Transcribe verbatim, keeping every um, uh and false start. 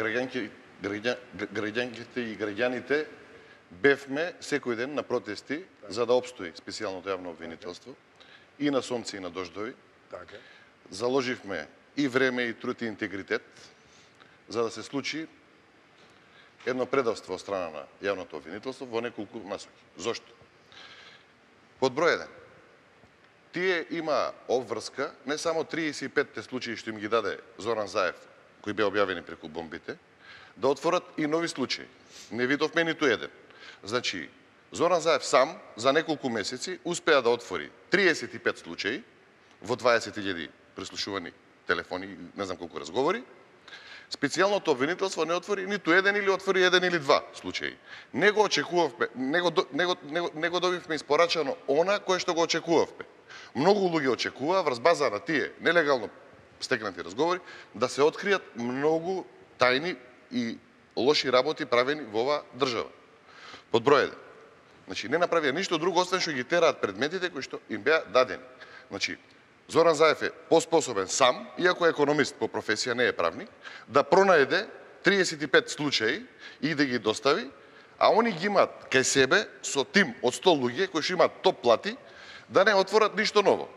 граѓанки, граѓа, граѓанките и граѓаните бевме секој ден на протести за да обстои специјалното јавно обвинителство и на сонце и на дождови. Така. Заложивме и време, и труд, и интегритет за да се случи едно предавство од страна на јавното обвинителство во неколку насоки. Зошто? Под број еден. Тие има обврска, не само триесет и петте случаи што им ги даде Зоран Заев, кои беа објавени преку бомбите, да отворат и нови случаи. Не видовме ниту еден. Значи, Зоран Заев сам за неколку месеци успеа да отвори триесет и пет случаи во дваесет илјади преслушувани телефони, не знам колку разговори. Специјалното обвинителство не отвори ниту еден или отвори еден или два случаи. Не го очекувавме, не го, не го, не го, не го добивме испорачано она кое што го очекувавме. Многу луѓе очекуваа врз база на тие нелегално стекнати разговори да се откријат многу тајни и лоши работи правени во оваа држава. Под број еден. Значи, не направија ништо друго, освен што ги тераат предметите кои што им беа дадени. Значи, Зоран Заев е поспособен сам, иако е економист по професија, не е правник, да пронајде триесет и пет случаи и да ги достави, а они ги имаат кај себе со тим од сто луѓе кои што имаат топ плати, да не отворат ништо ново.